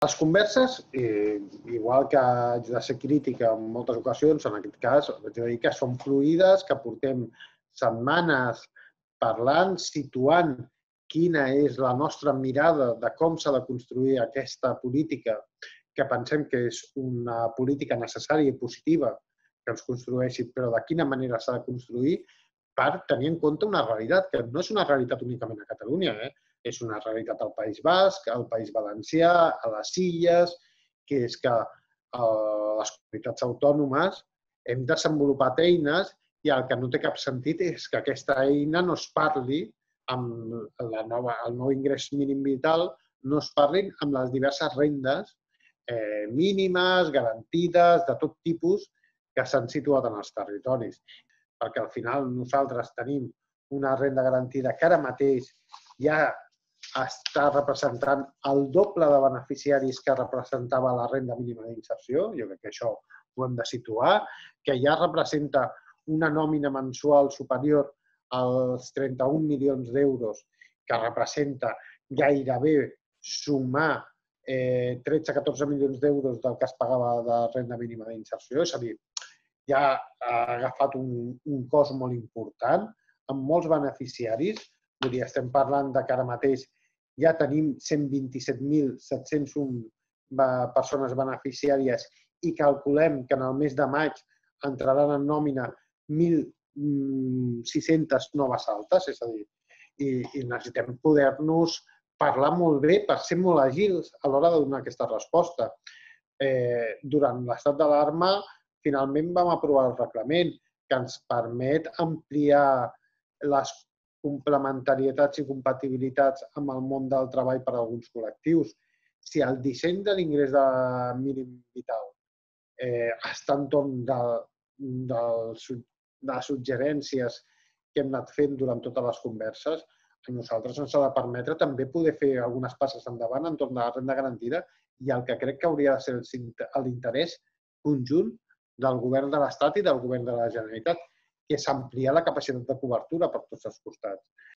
Les converses, igual que haig de ser crítica en moltes ocasions, en aquest cas, haig de dir que són fluïdes, que portem setmanes parlant, situant quina és la nostra mirada de com s'ha de construir aquesta política, que pensem que és una política necessària i positiva que ens construeixi, però de quina manera s'ha de construir per tenir en compte una realitat, que no és una realitat únicament a Catalunya, és una realitat al País Basc, al País Valencià, a les Illes, que és que les comunitats autònomes hem desenvolupat eines i el que no té cap sentit és que aquesta eina no es parli amb el nou ingrés mínim vital, no es parlin amb les diverses rendes mínimes, garantides, de tot tipus, que s'han situat en els territoris. Perquè al final nosaltres tenim una renda garantida que ara mateix ja està representant el doble de beneficiaris que representava la renda mínima d'inserció, jo crec que això ho hem de situar, que ja representa una nòmina mensual superior als 31 milions d'euros, que representa gairebé sumar 13-14 milions d'euros del que es pagava de renda mínima d'inserció, és a dir, ja ha agafat un cost molt important, amb molts beneficiaris. Vull dir, estem parlant que ara mateix ja tenim 127.701 persones beneficiàries i calculem que en el mes de maig entraran en nòmina 1.600 noves altes, és a dir, i necessitem poder-nos parlar molt bé per ser molt àgils a l'hora de donar aquesta resposta. Durant l'estat d'alarma, finalment vam aprovar el reglament que ens permet ampliar les complementarietats i compatibilitats amb el món del treball per a alguns col·lectius. Si el disseny de l'ingrés mínim vital està entorn de les suggerències que hem anat fent durant totes les converses, a nosaltres ens ha de permetre també poder fer algunes passes endavant entorn de la renda garantida i el que crec que hauria de ser l'interès conjunt del govern de l'Estat i del govern de la Generalitat, que és ampliar la capacitat de cobertura per tots els costats.